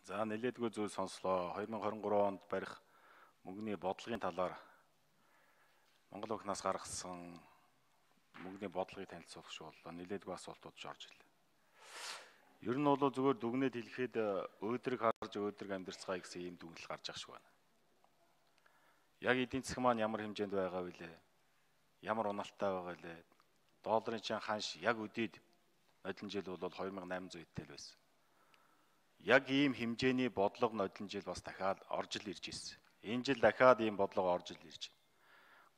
За нэлээдгүй зүйл сонслоо. 2023 онд барих мөнгөний бодлогын талаар Монгол банкнаас гаргасан мөнгөний бодлогыг танилцуулах шүү боллоо. Нэлээдгүй асуултууд орж ирлээ. Ер нь бол зүгээр дүгнээд хэлэхэд өөдрөг харж өөдрөг амьдарцгаая гэсэн ийм дүгнэлт гарч ах шиг байна. Яг эдийн засаг маань ямар хэмжээнд байгаа вүлээ? Ямар унаалттай байгаа лээ? Долларын чин ханш яг өдийд нодлон жил бол 2800 идэл байсан. Яг ийм хэмжээний бодлого нодлон жил бас дахиад орж ил ирж ирсэн. Энэ жил дахиад ийм бодлого орж ил ирж байна.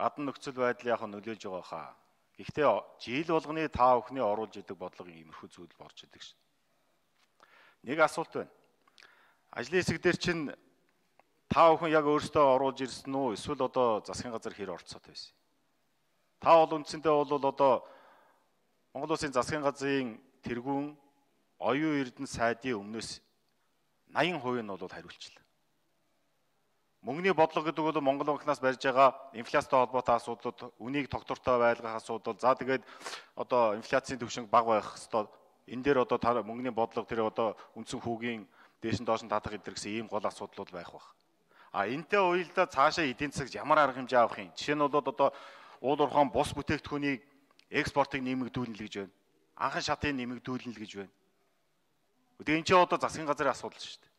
Гадна нөхцөл байдал яг нөлөөлж байгаа хаа. Гэхдээ жил болгоны та бүхний оруулж идэг бодлогын иймэрхүү зүйл борж идэг шин. Нэг асуулт байна. Ажлын хэсэг дээр чинь та бүхэн яг өөрсдөө оруулж ирсэн үү? Эсвэл одоо засгийн газар хэр орцоод байсан? Та бол үндсэндээ бол одоо Монгол Улсын засгийн газрын тэргүүн оюун эрдэнэ сайдын өмнөөс 80% нь бол хариулчлаа. Мөнгөний бодлого гэдэг бол Монгол банкнаас барьж байгаа инфляцтай холбоотой асуудлууд, үнийг тогтвортой байлгах асуудал, за тэгээд одоо инфляцийн түвшинг бага байх хэвээр энэ дээр одоо мөнгөний бодлого тэр одоо үндсэн хүүгийн дээш нь доош нь татах гэдэг гэсэн ийм гол асуудлууд байх бах. Энтэй уялдаа цаашаа эдийн засагт ямар арга хэмжээ авах юм? Жишээ нь бол одоо уул уурхайн бус бүтээгдэхүүнийг экспортыг нэмэгдүүлнэ л гэж байна. Анхан шатыг нэмэгдүүлнэ л гэж байна. Тэгээ энэ ч одоо засгийн газрын асуудал шүү дээ.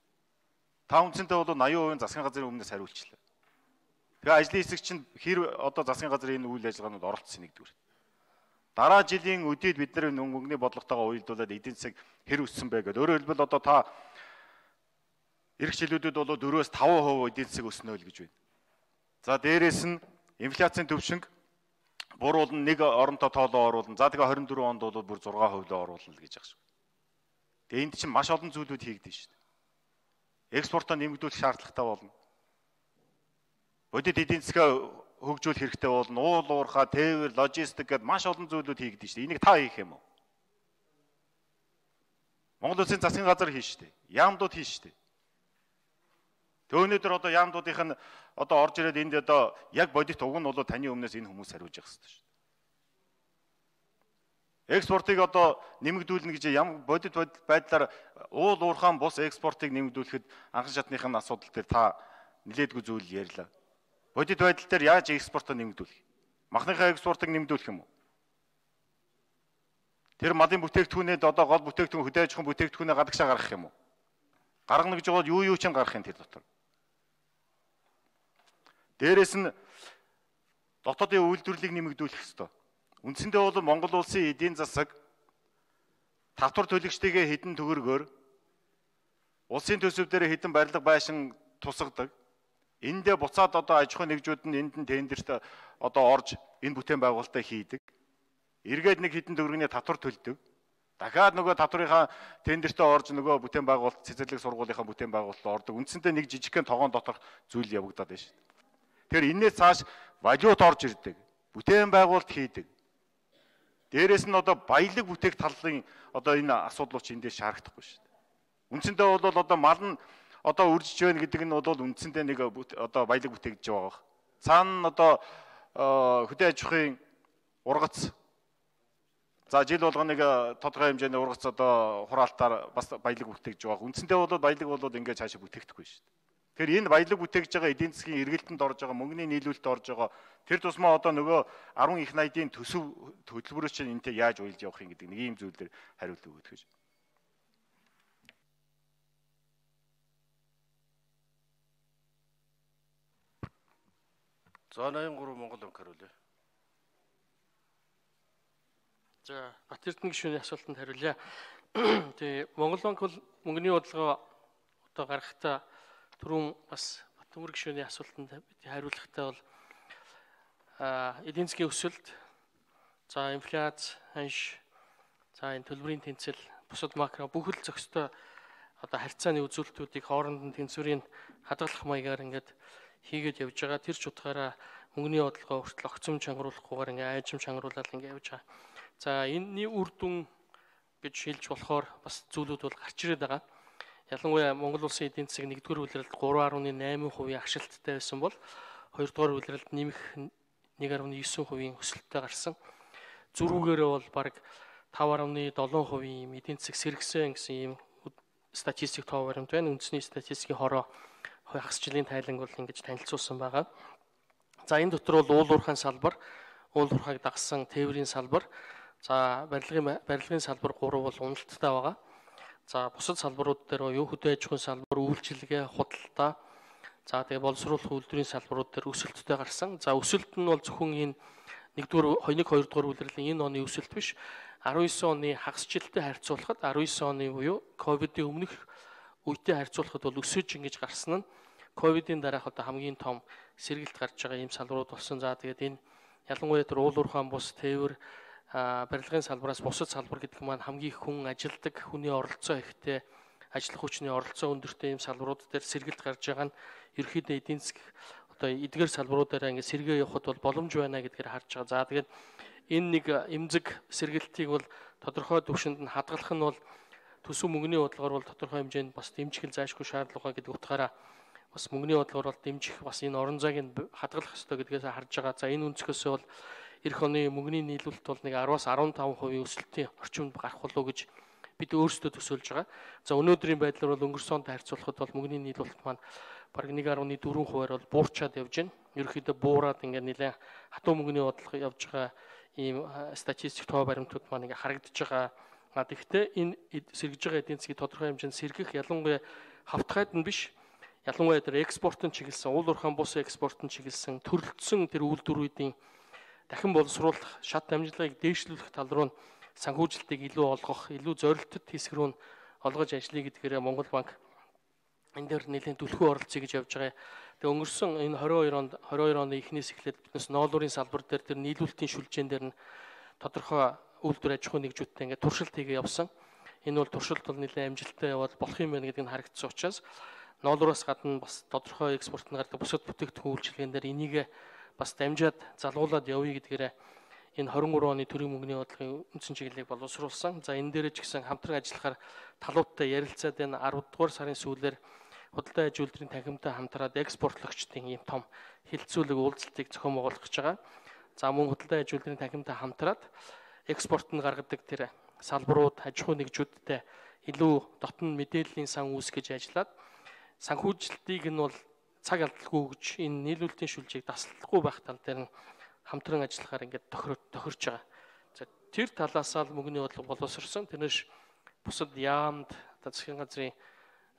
Та үндсэндээ бол 80% засгийн газрын өмнөөс хариулчлаа. Тэгээ ажлын хэсэг чинь хэр одоо засгийн газрын энэ үйл ажиллагаанд оролцсон нэгдүгээр. Дараа жилийн өдийд бид нар мөнгөний бодлоготойгоо уялдуулаад эдийн засаг хэр өссөн бэ гэдэг. Өөрөөр хэлбэл одоо та эх жилүүдэд бол 4-5% эдийн засаг өснө л гэж байна. За дээрээс нь инфляцийн түвшинг буруулна, нэг оронтой тоолоо оруулна. За тэгээ 24 онд бол бүр 6% л оруулна л гэж байгаа шүү. Тэгээ энд чинь маш олон зүйлүүд хийгдэн шүү дээ. Экспортоо нэмэгдүүлэх шаардлагатай болно. Бодит эдийн засгаа хөгжүүлэх хэрэгтэй болно. Уул уурхай, тээвэр, логистик гэдээ маш олон зүйлүүд хийгдэн шүү дээ. Энийг та хийх юм уу? Монгол Улсын засгийн газар хийн шүү дээ. Яамдууд хийн шүү дээ. Тэг өнөөдөр одоо яамдуудынх нь одоо орж ирээд энд одоо яг бодит уг нь бол таны өмнөөс энэ хүмүүс хариулж явах хэрэгтэй шүү дээ. Экспортыг одоо нэмэгдүүлнэ гэж ямар бодит байдлаар уул уурхайн бус экспортыг нэмэгдүүлэхэд анхан шатныхын асуудал дээр та нэлээдгүй зүйл ярьлаа. Бодит байдал дээр яаж экспортоо нэмэгдүүлэх? Махныхаа экспортыг нэмэгдүүлэх юм уу? Тэр малын бүтээгдэхүүнээд одоо гол бүтээгдэхүүн хөдөө аж ахуйн бүтээгдэхүүнээ гадагшаа гаргах юм уу? Гаргана гэж бол юу ч гарах юм тэр дотор. Дээрээс нь дотоодын үйлдвэрлэлийг нэмэгдүүлэх ёстой. Үндсэндээ бол Монгол улсын эдийн засаг татвар төлөгчдийн хэдэн төгрөгөөр улсын төсөв дээр хэдэн барилга байшин тусгадаг. Эндээ буцаад одоо аж ахуйн нэгжүүд нь энд нь тендерт одоо орж энэ бүтээн байгуулалтаа хийдэг. Эргээд нэг хэдэн төгрөгийн татвар төлдөг. Дахиад нөгөө татврынхаа тендертээ орж нөгөө бүтээн байгуулалт цэцэрлэг сургуулийнхаа бүтээн байгуулалт ордог. Үндсэндээ нэг жижигхэн тогоон доторх зүйл явагдаад байна шүү дээ. Тэгэхээр энээс цааш валют орж ирдэг. Бүтээн байгуулалт хийдэг. Дээрээс нь одоо баялаг бүтээх талын одоо энэ асуудлууд чинь эндээс шаардахгүй шүү дээ. Үндсэндээ бол одоо мал нь одоо үржиж байна гэдэг нь бол үндсэндээ нэг одоо баялаг бүтээгдэж байгаа баг. Цаана нь одоо хөдөө аж ахуйн ургац. За жил болгоныг тодорхой хэмжээний ургац одоо хураалтаар бас баялаг бүтээгдэж байгаа. Үндсэндээ бол баялаг бол ингээд цаашаа бүтээгдэхгүй шүү дээ. Тэгэхээр энэ баялаг бүтээгдэж байгаа эдийн засгийн эргэлтэнд орж байгаа мөнгөний нийлүүлэлт орж байгаа тэр тусмаа одоо нөгөө 10 их найдын төсөв хөтөлбөрөөс чинь энтэй яаж уйлж явах юм гэдэг нэг ийм зүйлээр хариулт өгөх гэж. За 83 Монгол банк хариулъя. За Батэрдэн гишүүний асуултанд хариулъя. Тэгээ Монгол банк бол мөнгөний бодлогоо одоо гаргахтаа түрүүн бас Батөмөр гишүүний асуултанд хариулахдаа бол эдийн засгийн өсөлт, за инфляц, ханш, за энэ төлбөрийн тэнцэл, бусад макро бүхэл зохистой одоо харьцааны үзүүлэлтүүдийг хооронд нь тэнцвэрийн хадгалах маягаар ингээд хийгээд явж байгаа. Тэр ч утгаараа мөнгөний бодлогоо хүртэл огцом чангаруулахгүйгээр ингээд айжим чангаруулаад ингээд явж байгаа. За энэний үр дүн гэж хэлж болохоор бас зүйлүүд бол гарч ирээд байгаа. Ялангуяа Монгол улсын эдийн засаг 1-р улиралд 3.8% агшилттай байсан бол 2-р улиралд нэмэх 1.9% өсөлттэй гарсан. Зөрүүгээрээ бол бараг 5.7% эдийн засаг сэргсэн гэсэн ийм статистик тоо баримт байна. Үндэсний статистикийн хороо хагас жилийн тайланг бол ингэж танилцуулсан байгаа. За энэ дотор бол уул уурхайн салбар, уул уурхайг дагсан тээврийн салбар, за барилгын салбар 3 бол уналттай байгаа. За бусад салбарууд дээр юу хөдөө аж ахуйн салбар, үйлчилгээ, худалдаа, за тэгээ боловсруулах үйлдвэрийн салбарууд дээр өсөлттэй гарсан. За өсөлт нь бол зөвхөн энэ 2 дугаар улирлын энэ оны өсөлт биш. 19 оны хагас жилтэй харьцуулахад 19 оны буюу ковидын өмнөх үетэй харьцуулахад бол өсөж ингэж гарсан нь ковидын дараах одоо хамгийн том сэргэлт гарч байгаа ийм салбарууд болсон. За тэгээд энэ ялангуяа тэр уул уурхайн бус, тээвэр, барилгын салбараас бусад салбар гэдэг маань хамгийн их хүн ажилдаг, хүний оролцоо ихтэй, ажиллах хүчний оролцоо өндөртэй ийм салбарууд дээр сэргэлт гарч байгаа нь ерөнхийдөө эдийн засаг одоо эдгээр салбаруудаараа ингэ сэргээ явахд бол боломж байна гэдгээр харж байгаа. За тэгээд энэ нэг эмзэг сэргэлтийг бол тодорхой түвшинд нь хадгалах нь бол төсөв мөнгөний бодлогоор бол тодорхой хэмжээнд бас дэмжих заашгүй шаардлага гэдэг утгаараа бас мөнгөний бодлогоор бол дэмжих бас энэ орон зайг хадгалах ёстой гэдгээс харж байгаа. За энэ өнцгөөсөө бол эх оны мөнгөний нийлүүлэлт бол нэг 10-аас 15% өсөлтийн орчимд гарах болов гэж бид өөрсдөө төсөөлж байгаа. За өнөөдрийн байдлаар бол өнгөрсөн онтой харьцуулахад бол мөнгөний нийлүүлэлт маань бараг 1.4%-аар бол буурчаад явж байна. Ерөнхийдөө буураад ингээд нэлээд хатуу мөнгөний бодлого явж байгаа ийм статистик тоо баримтууд маань ингээд харагдаж байгаа. Тэгэхдээ энэ сэргэж байгаа эдийн засгийн тодорхой хэмжээнд сэргэх ялангуяа хавтгайд нь биш, ялангуяа тэр экспортын чиглэсэн, уул уурхайн бус экспортын чиглэсэн төрөлдсөн тэр үйлдвэрүүдийн дахин боловсруулах, шат амжилтыг дээшлүүлэх тал руу санхүүжилтийг илүү олгох, илүү зорилттой хэсэг рүү олгож ажиллая гэдгээрээ Монгол банк энэ дээр нэлээд түлхүү оролцъё гэж явж байгаа. Тэгээ өнгөрсөн энэ 22 оны эхнээс эхлээд биднес ноолуурын салбар дээр тэр нийлүүлэлтийн шүлжээн дээр нь тодорхой үйлдвэр аж ахуйн нэгжүүдтэй ингээд туршилт хийгээ явсан. Энэ бол туршилт бол нэлээд амжилттай яваад болох юм байна гэдгийг харагдсан учраас ноолуураас гадна бас тодорхой экспорт нь гардаг бусад бүтээгдэхүүн үйлчилгээнд дээр энийг бас дамжаад залгуулад явъя гэдгээрээ энэ 23 оны төрийн мөнгөний бодлогын үндсэн чиглэлийг боловсруулсан. За энэ дээр ч гэсэн хамтран ажиллахаар талуудтай ярилцаад энэ 10 дугаар сарын сүүлээр худалдаа аж үйлдвэрийн танхимтай хамтраад экспортлогчдын ийм том хилцүүлэг уулзалтыг зохион байгуулах гэж байгаа. За мөн худалдаа аж үйлдвэрийн танхимтай хамтраад экспорт нь гаргадаг тэр салбарууд, аж ахуйн нэгжүүдтэй илүү дотн мэдээллийн сан үүсгэж ажиллаад санхүүжилтийг нь бол цаг алдалгүй гэж энэ нийлүүлэлтийн шүлжийг таслахгүй байх тал дээр нь хамтран ажиллахаар ингээд тохирч байгаа. За тэр талаасаа л мөнгөний бодлого боловсрсон. Тэрнэш бусад яамд засгийн газрын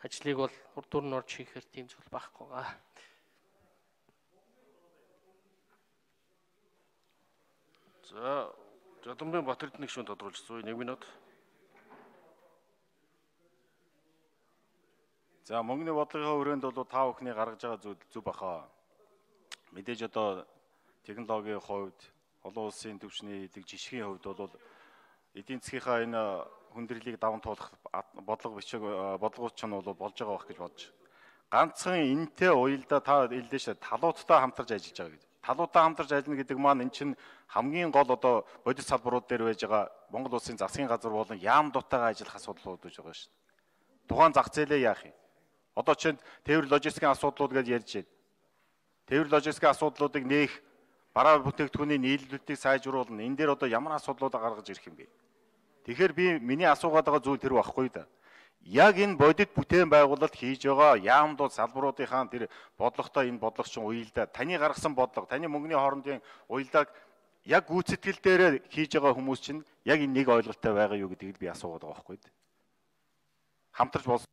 ажлыг бол урдуур нь орж хийхээр тийм зүйл байхгүй байгаа. За Жодомбын Батэрдны гишүүн тодруулж зүй 1 минут. За мөнгөний бодлогын хүрээнд бол та бүхний гаргаж байгаа зүйл зүв баха. Мэдээж одоо технологийн хувьд, олон улсын түвшний эдэг жишгийн хувьд бол эдийн засгийнхаа энэ хүндрэлийг даван туулах бодлого бичиг бодлогууд ч нь бол болж байгаа байх гэж бодож. Ганцхан энэтэй уялдаа та хэлдэ ш талуудтай хамтарч ажиллаж байгаа гэж. Талуудтай хамтарч ажиллана гэдэг маань эн чинь хамгийн гол одоо бодит салбарууд дээр байж байгаа Монгол улсын засгийн газар болон яам дутаагаа ажиллах асуудлууд гэж байгаа ш. Тухайн зах зээлээ яах юм? Одоо чинь тээвэр логистикийн асуудлууд гэж ярьж байна. Тээвэр логистикийн асуудлуудыг нээх, бараа бүтээгдэхүүний нийлүүлэлтийг сайжруулна. Энэ дээр одоо ямар асуудлуудаа гаргаж ирэх юм бэ? Тэгэхээр би миний асуугаад байгаа зүйл тэр байхгүй да. Яг энэ бодит бүтээн байгуулалт хийж байгаа яамдууд салбаруудынхаа тэр бодлоготой энэ бодлого чинь уялдаа таны гаргасан бодлого, таны мөнгөний хоорондын уялдааг яг гүйцэтгэл дээр хийж байгаа хүмүүс чинь яг энэ нэг ойлголттой байгаа юу гэдгийг би асуугаад байгаа байхгүй да. Хамтарч болсон.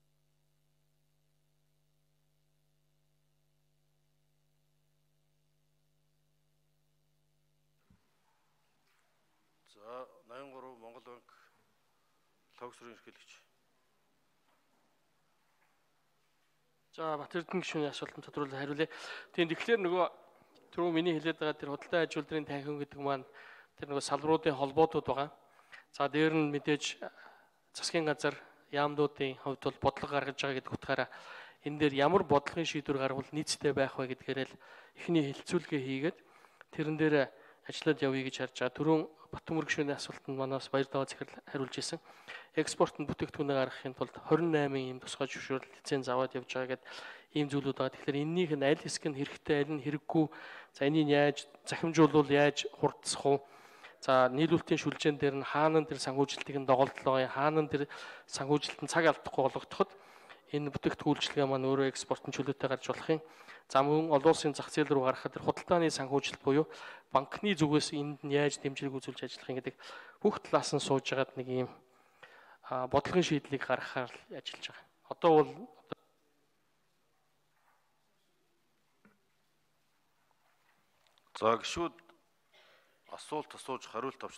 За 83 Монгол банк логсрын эрхлэгч. За Батэрдэн гишүүний асуултанд тодруулан хариулъя. Тэгэхээр нөгөө түрүү миний хэлээд байгаа тэр худалдаа аж үйлдвэрийн танхим гэдэг маань тэр нөгөө салбаруудын холбоотууд байгаа. За дээр нь мэдээж засгийн газар яамдуудын хувьд бол бодлого гаргаж байгаа гэдэг утгаараа энэ дээр ямар бодлогын шийдвэр гарвал нийцтэй байх вэ гэдгээрээ л эхний хэлцүүлгээ хийгээд тэрэн дээр ажиллаад явъя гэж харж байгаа. Түрүүн Батөмөр гишүүний асуултанд манаас Баярдаваа захирал хариулж ирсэн. Экспортын бүтээгдэхүүнээ гаргахын тулд 28 ийм тусгай зөвшөөрөл лиценз аваад явж байгаа гэдэг ийм зүйлүүд байгаа. Тэгэхээр энэнийх нь аль хэсэг нь хэрэгтэй, аль нь хэрэггүй. За энийг яаж захимжуулвал яаж хурдсах вэ? За нийлүүлэлтийн шүлжээн дээр нь хаана тэр санхүүжилтийг нь доголдлоо, хаана тэр санхүүжилтэн цаг алдахгүй болгохдоход энэ бүтээгдэхүүнчлэгээ маань өөрөө экспортын чөлөөтэй гарч болох юм. За мөн олон улсын зах зээл рүү гаргахад худалдааны санхүүжилт буюу банкны зүгээс энд нь яаж дэмжлэг үзүүлж ажиллах юм гэдэг бүх талаас нь сууж агаад нэг юм бодлогын шийдлийг гаргахаар ажиллаж байгаа. Одоо бол За гişүүд асуулт асууж хариулт авч